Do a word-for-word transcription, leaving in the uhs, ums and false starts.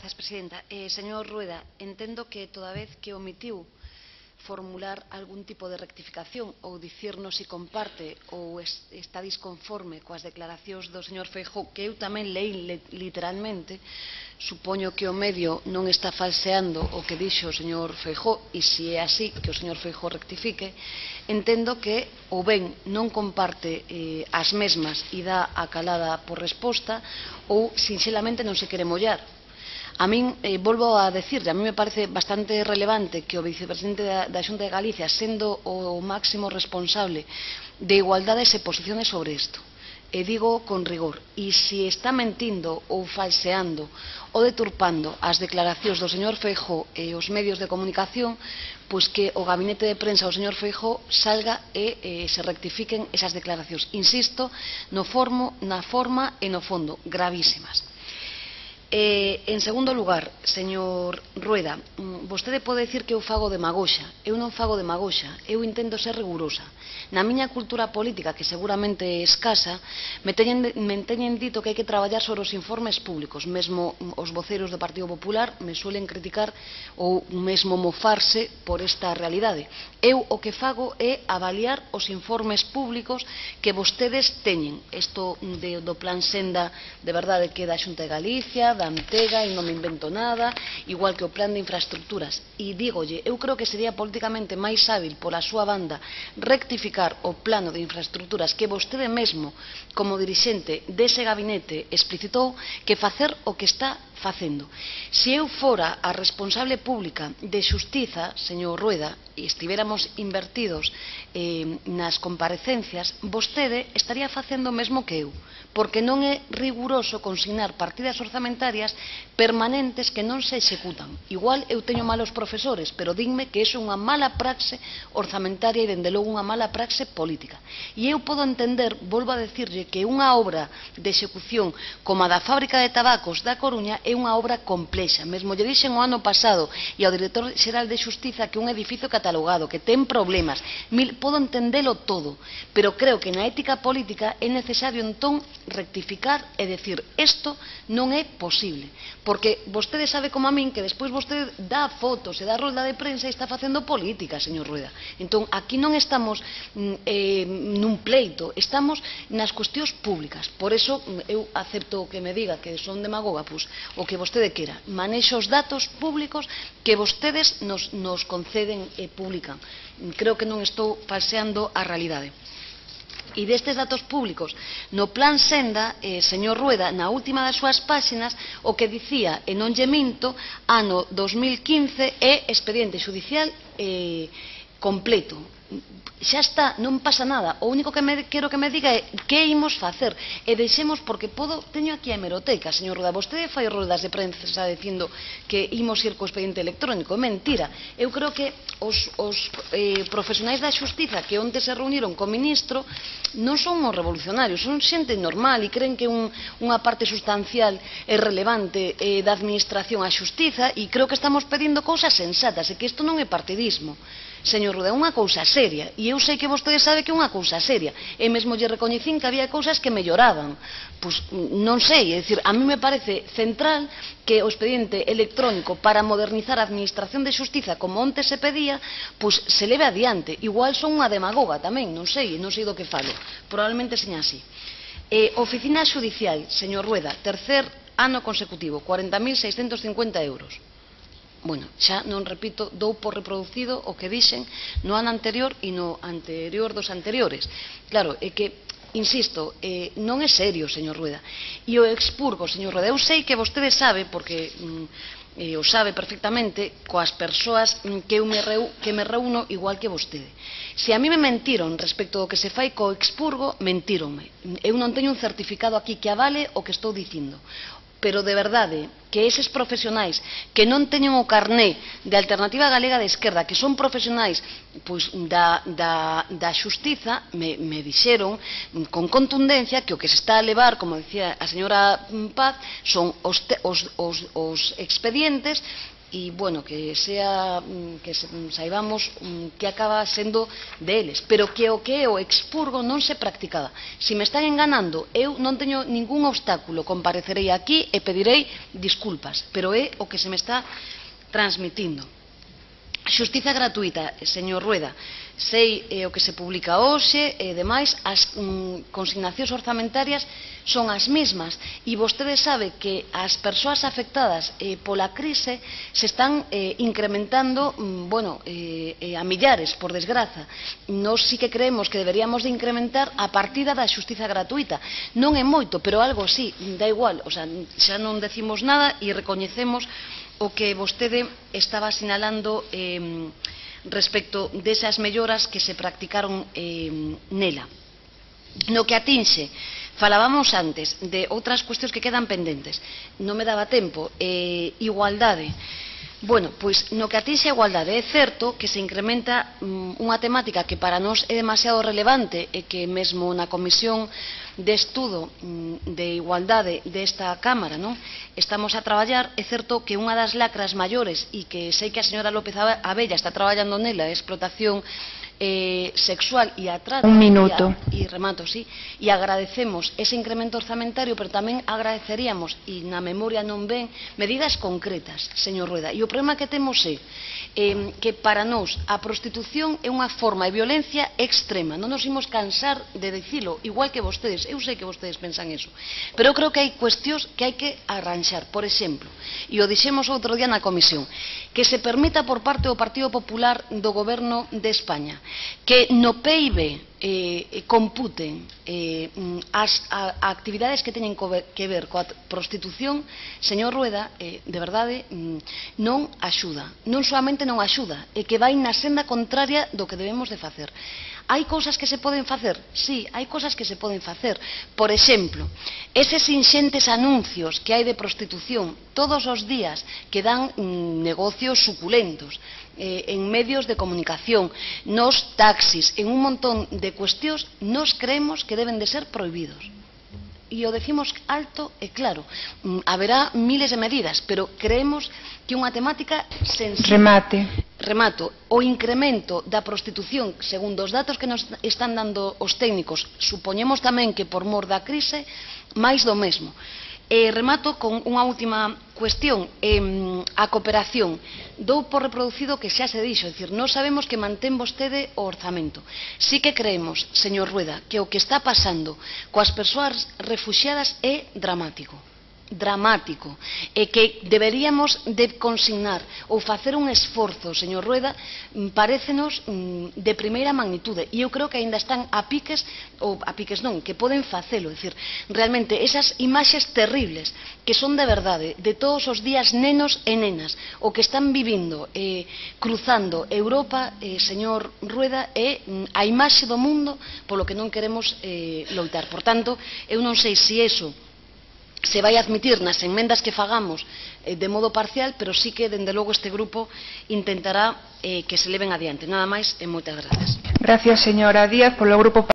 Grazas, presidenta. Eh, señor Rueda, entendo que toda vez que omitiu formular algún tipo de rectificación ou dicirnos se comparte ou es, está disconforme coas declaracións do señor Feijóo, que eu tamén leí literalmente, supoño que o medio non está falseando o que dixo o señor Feijóo, e se é así, que o señor Feijóo rectifique. Entendo que ou ben non comparte eh, as mesmas e dá a calada por resposta, ou sinxelamente non se quere mollar. A min, eh, volvo a decirle, a mí me parece bastante relevante que o vicepresidente da, da Xunta de Galicia, sendo o máximo responsable de igualdade, se posicione sobre isto. E digo con rigor, e se está mentindo ou falseando ou deturpando as declaracións do señor Feijóo e os medios de comunicación, pois que o gabinete de prensa do señor Feijóo salga e eh, se rectifiquen esas declaracións. Insisto, no formo, na forma e no fondo, gravísimas. Eh, en segundo lugar, señor Rueda, vostede pode dicir que eu fago demagoxa. Eu non fago demagoxa, eu intento ser rigurosa. Na miña cultura política, que seguramente é escasa, me teñen, me teñen dito que hai que traballar sobre os informes públicos. Mesmo os voceros do Partido Popular me suelen criticar ou mesmo mofarse por esta realidade. Eu o que fago é avaliar os informes públicos que vostedes teñen. Isto de, do Plan Senda, de verdade, que da Xunta de Galicia, da Antega, e non me invento nada, igual que o plan de infraestructuras. E dígolle, eu creo que sería políticamente máis hábil pola súa banda rectificar o plano de infraestructuras que vostede mesmo, como dirixente dese gabinete, explicitou, que facer o que está facendo. Se eu fora a responsable pública de Xustiza, señor Rueda, e estivéramos invertidos eh, nas comparecencias, vostede estaría facendo o mesmo que eu, porque non é riguroso consignar partidas orzamentarias permanentes que non se executan. Igual eu teño malos profesores, pero dinme que iso é unha mala praxe orzamentaria e, dende logo, unha mala praxe política. E eu podo entender, volvo a decirlle, que unha obra de execución como a da fábrica de tabacos da Coruña é unha obra complexa. Mesmo lle dixen o ano pasado e ao director xeral de Xustiza que un edificio catalogado, que ten problemas. Mil, podo entendelo todo, pero creo que na ética política é necesario entón rectificar e decir isto non é posible, porque vostede sabe como a min que despois vostede dá fotos e dá rolda de prensa e está facendo política, señor Rueda. Entón, aquí non estamos eh, nun pleito, estamos nas cuestións públicas. Por eso eu acepto que me diga que son demagoga, pois, o que vostede quera. Manexo os datos públicos que vostedes nos, nos conceden e publican. Creo que non estou falseando a realidade. E destes datos públicos, no Plan Senda, eh, señor Rueda, na última das súas páxinas, o que dicía, e non lle minto, ano dos mil quince é expediente xudicial eh, completo. Xa está, non pasa nada. O único que me, quero que me diga é que imos facer. E deixemos, porque podo, teño aquí a hemeroteca, señor Rueda. Vostede fai roldas de prensa dicindo que imos ir co expediente electrónico. Mentira. Eu creo que os, os eh, profesionais da xustiza que onte se reuniron co ministro non son os revolucionarios, son xente normal e creen que un, unha parte sustancial é relevante eh, da administración á xustiza, e creo que estamos pedindo cousas sensatas e que isto non é partidismo. Señor Rueda, é unha cousa seria, e eu sei que vostede sabe que é unha cousa seria, e mesmo lle recoñecín que había cousas que melloraban. Pois non sei, é dicir, a mí me parece central que o expediente electrónico para modernizar a administración de xustiza, como onte se pedía, pois se leve adiante. Igual son unha demagoga tamén, non sei, non sei do que falo, probablemente seña así. Eh, oficina xudicial, señor Rueda, tercer ano consecutivo, cuarenta mil seiscentos cincuenta euros. Bueno, xa non repito, dou por reproducido o que dixen no ano anterior e no anterior dos anteriores. Claro, é que, insisto, eh, non é serio, señor Rueda. E o expurgo, señor Rueda, eu sei que vostede sabe, porque mm, eh, o sabe perfectamente, coas persoas que eu me, reu, que me reúno igual que vostede. Se a mí me mentiron respecto do que se fai co expurgo, mentíronme. Eu non teño un certificado aquí que avale o que estou dicindo. Pero de verdade que eses profesionais que non teñen o carné de Alternativa Galega de Esquerda, que son profesionais pois, da, da, da xustiza, me, me dixeron con contundencia que o que se está a levar, como decía a señora Paz, son os, te, os, os, os expedientes e, bueno, que sea que saibamos que acaba sendo deles, pero que o que é o expurgo non se practicaba. Se me están enganando, eu non teño ningún obstáculo, comparecerei aquí e pedirei disculpas, pero é o que se me está transmitindo. Xustiza gratuita, señor Rueda, sei eh, o que se publica hoxe e demais, as mm, consignacións orzamentarias son as mesmas e vostede sabe que as persoas afectadas eh, pola crise se están eh, incrementando mm, bueno, eh, eh, a millares, por desgraza. Nós sí que creemos que deberíamos de incrementar a partida da xustiza gratuita. Non é moito, pero algo sí, dá igual, o sea, xa non decimos nada e recoñecemos o que vostede estaba sinalando eh, respecto desas melloras que se practicaron eh, nela. No que atinxe, falábamos antes de outras cuestións que quedan pendentes, non me daba tempo, eh, igualdade. Bueno, pois no que atinxe a igualdade é certo que se incrementa um, unha temática que para nós é demasiado relevante e que mesmo na comisión de estudo um, de igualdade desta Cámara, non? Estamos a traballar. É certo que unha das lacras maiores e que sei que a señora López Abella está traballando nela é a explotación Eh, sexual e a trata. Un minuto. E, e remato, sí. E agradecemos ese incremento orzamentario, pero tamén agradeceríamos, e na memoria non ven, medidas concretas, señor Rueda. E o problema que temos é eh, que para nós a prostitución é unha forma de violencia extrema. Non nos imos cansar de dicilo, igual que vostedes. Eu sei que vostedes pensan eso. Pero eu creo que hai cuestións que hai que arranxar. Por exemplo, e o dixemos outro día na comisión, que se permita por parte do Partido Popular do Goberno de España que no P I B eh, computen eh, as a, a actividades que teñen que ver coa prostitución, señor Rueda, eh, de verdade, non axuda. Non solamente non axuda, é que vai na senda contraria do que debemos de facer. Hai cousas que se poden facer? Sí, hai cousas que se poden facer. Por exemplo, eses inxentes anuncios que hai de prostitución todos os días que dan mm, negocios suculentos eh, en medios de comunicación, nos taxis, en un montón de cuestións, nos creemos que deben de ser prohibidos. E o decimos alto e claro. Haberá miles de medidas, pero creemos que unha temática sensible. Remate. Remato. O incremento da prostitución, segundo os datos que nos están dando os técnicos, supoñemos tamén que por mor da crise, máis do mesmo. E remato con unha última cuestión, eh, a cooperación. Dou por reproducido que xa se dixo, é dicir, non sabemos que mantén vostede o orzamento. Sí que creemos, señor Rueda, que o que está pasando coas persoas refuxiadas é dramático. dramático e que deberíamos de consignar ou facer un esforzo, señor Rueda, parécenos de primeira magnitude e eu creo que aínda están a piques ou a piques non, que poden facelo, é dicir, realmente esas imaxes terribles que son de verdade, de todos os días nenos e nenas, o que están vivindo eh, cruzando Europa, eh, señor Rueda, é a imaxe do mundo polo que non queremos eh, loitar. Por tanto, eu non sei se iso se vai admitir nas enmendas que fagamos eh, de modo parcial, pero sí que, dende logo, este grupo intentará eh, que se leven adiante. Nada máis e moitas grazas. Gracias, señora Díaz, polo grupo